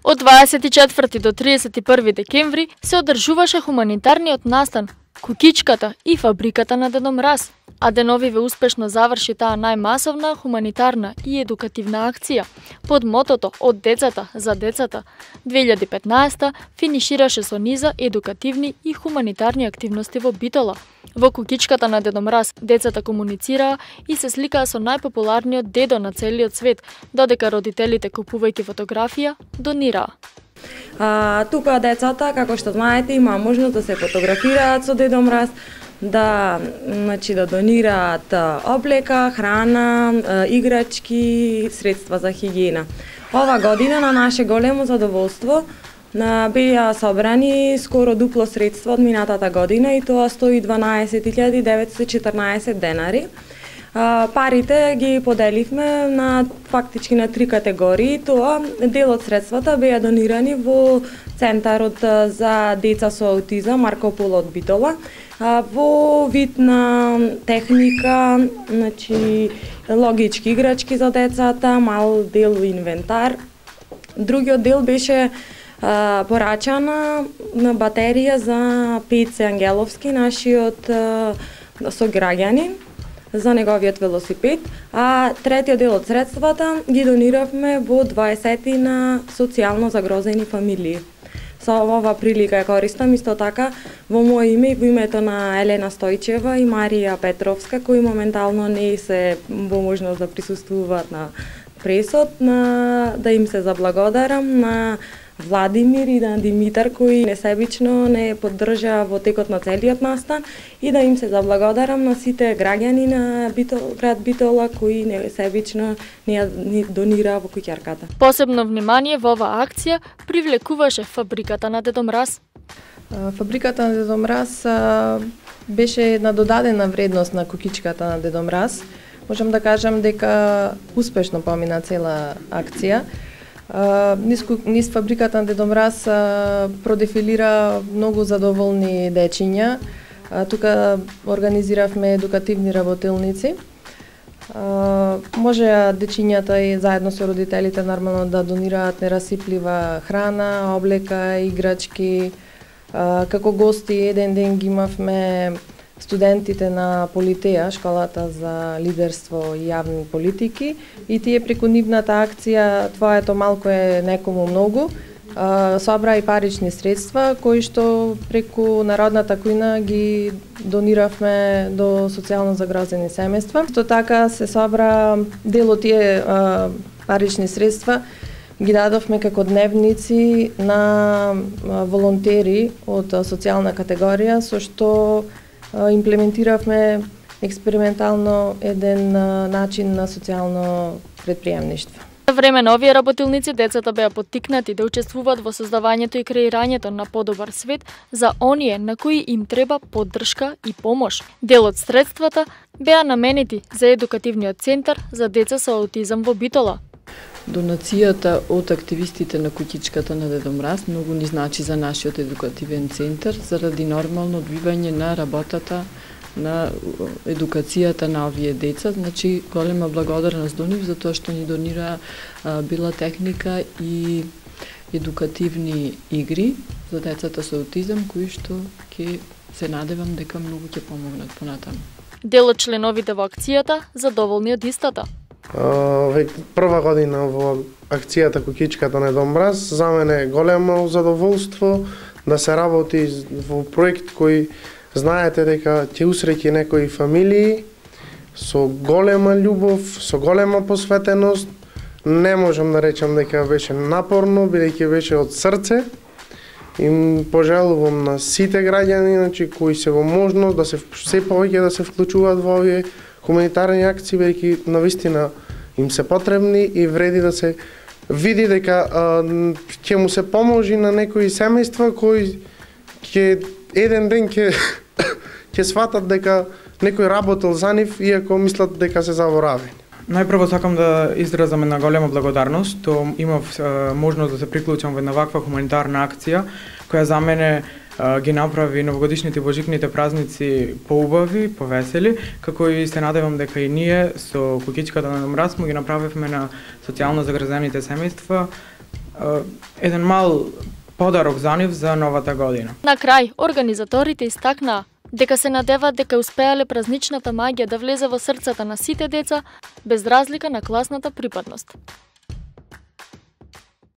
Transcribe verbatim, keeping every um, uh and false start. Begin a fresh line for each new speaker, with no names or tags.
Од дваесет и четврти до тридесет и први декември се одржуваше хуманитарниот настан Кукичката и фабриката на Дедо Мраз, а деновиве успешно заврши таа најмасовна хуманитарна и едукативна акција под мотото Од децата за децата. две илјади и петнаесета финишираше со низа едукативни и хуманитарни активности во Битола. Во Кукичката на Дедо Мраз децата комуницираа и се сликаа со најпопуларниот дедо на целиот свет, додека родителите, купувајќи фотографија, донираа.
А, тука децата, како што знаете, има можност да се фотографираат со Дедо Мраз, да, значи, да донираат облека, храна, играчки, средства за хигиена. Ова година на наше големо задоволство беа собрани скоро дупло средства од минатата година и тоа сто и дванаесет илјади деветстотини и четрнаесет денари. Парите ги поделивме на фактички на три категории. Тоа дел од средствата беа донирани во Центарот за деца со аутизам Марко Поло од Битола во вид на техника, значи логички играчки за децата, мал дел инвентар. Другиот дел беше порачана на батерија за Пеце Ангеловски, нашиот сограѓанин, за неговиот велосипед, а третиот дел од средствата ги дониравме во дваесетина социјално загрозени фамилии. Со ова прилика ја користам исто така во моје име и во името на Елена Стојчева и Марија Петровска, кои моментално не се во можност да присуствуваат на пресот, на да им се заблагодарам на Владимир и на Димитар, кои несебично не поддржаа во текот на целиот настан, и да им се заблагодарам на сите граѓани на Битол, град Битола, кои несебично не донираа во куќарката.
Посебно внимание во оваа акција привлекуваше фабриката на Дедо Мраз.
Фабриката на Дедо Мраз беше една додадена вредност на Кукичката на Дедо Мраз. Можам да кажам дека успешно помина цела акција. Низ, низ фабриката на Дедо Мраз продефилира многу задоволни дечиња. Тука организиравме едукативни работилници. Можеа дечињата и заедно со родителите нормално да донираат нерасиплива храна, облека, играчки. Како гости еден ден ги имавме студентите на Политеја, школата за лидерство и јавни политики, и тие преку нивната акција "Твоето малку е некому многу" собра и парични средства кои што преку Народната кујна ги дониравме до социјално загрозени семејства. Исто така се собра дел од тие а, парични средства ги дадовме како дневници на волонтери од социјална категорија, со што имплементиравме експериментално еден начин на социјално предприемништво.
За време на овие работилници децата беа поттикнати да учествуваат во создавањето и креирањето на подобар свет за оние на кои им треба поддршка и помош. Дел од средствата беа наменети за едукативниот центар за деца со аутизам во Битола.
Донацијата од активистите на Кукичката на Дедо Мраз многу ни значи за нашиот едукативен центар заради нормално одвивање на работата на едукацијата на овие деца. Значи, голема благодарност до нив за тоа што ни донира а, била техника и едукативни игри за децата со аутизам, кои што ќе се надевам дека многу ќе помогнат понатаму.
Дел од членовите во акцијата задоволни од истата.
Uh, прва година во акцијата Кукичката на Дедо Мраз, за мене е големо задоволство да се работи во проект кој знаете дека ќе усреќи некои фамилии со голема љубов, со голема посветеност. Не можам да речам дека беше напорно, бидејќи беше од срце. Им пожелувам на сите граѓани, значи, кои се во можност да се се повеќе да се вклучуваат во овие хуманитарни акции, бидејќи навистина им се потребни и вреди да се види дека ќе му се поможи на некои семејства кои ќе еден ден ќе ќе сватат дека некој работел за нив, иако мислат дека се заборавени.
Најпрво сакам да изразам една голема благодарност што имав можност да се приклучам во една ваква хуманитарна акција која за мене ги направи новогодишните и божикните празници поубави, повесели, како и се надевам дека и ние со Кукичката на Дедо Мраз ги направивме на социјално загрозените семејства еден мал подарок за нив за новата година.
На крај, организаторите истакнаа дека се надеваат дека успеале празничната маѓа да влезе во срцата на сите деца без разлика на класната припадност.